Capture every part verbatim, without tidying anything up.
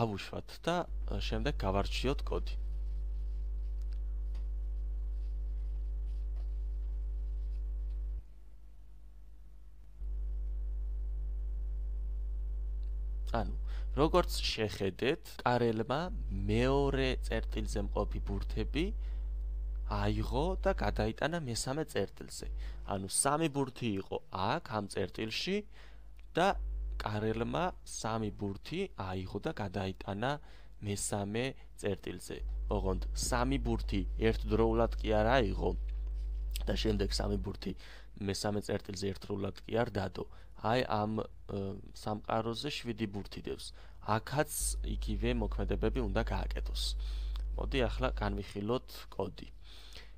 დავუშვათ და შემდეგ გავარჩიოთ კოდი. ანუ, როგორც შეხედეთ, კარელმა მეორე წერტილზე მყოფი ბურთები აიღო და გადაიტანა მესამე წერტილზე. ანუ სამი ბურთი იყო აქ ამ წერტილში და კარელმა სამი ბურთი აიღო და გადაიტანა მესამე წერტილზე. ოღონდ სამი ბურთი ერთდროულად კი არ აიღო და შემდეგ სამი ბურთი მესამე წერტილზე ერთდროულად კი არ დადო. აი ამ სამყაროზე შვიდი ბურთი დევს. აქაც იგივე მოქმედებები უნდა გააკეთოს. მოდი ახლა განვიხილოთ კოდი.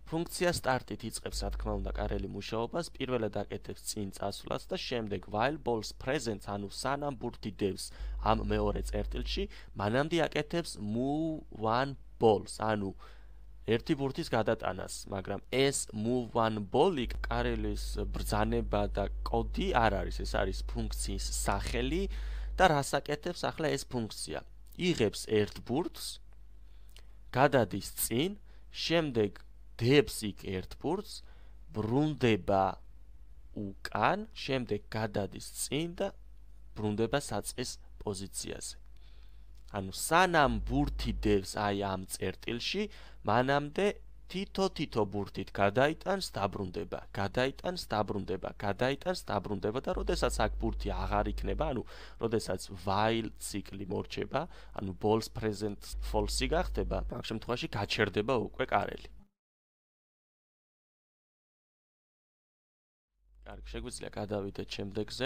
ფუნქცია სტარტით იწყებს, რა თქმა უნდა, კარელი მუშაობას, პირველად აკეთებს წინ წასვლას და შემდეგ while balls present, ანუ სანამ ბურთი დევს ამ მეორე წერტილში, მანამდე აკეთებს move one balls, ანუ ერთი ბურთის გადატანას, მაგრამ ეს move one ball-ი კარელის ბრძანება და კოდი არ არის, ეს არის ფუნქციის სახელი და რას აკეთებს ახლა ეს ფუნქცია? იღებს ერთ ბურთს, გადადის წინ, შემდეგ დებს იქ ერთ ბურთს, ბრუნდება უკან, შემდეგ გადადის წინ და ბრუნდება საწყის პოზიციაზე. ანუ სანამ ბურთი დევს აი ამ წერტილში, მანამდე თითო-თითო ბურთით გადაიტანს, დაბრუნდება, გადაიტანს, დაბრუნდება, გადაიტანს, დაბრუნდება და როდესაც აქ ბურთი აღარ იქნება, ანუ როდესაც while ციკლი მორჩება, ანუ balls present false-ი გახდება, ამ შემთხვევაში გაჩერდება უკვე კარელი. კარგი, შეგვიძლია გადავიდეთ შემდეგზე.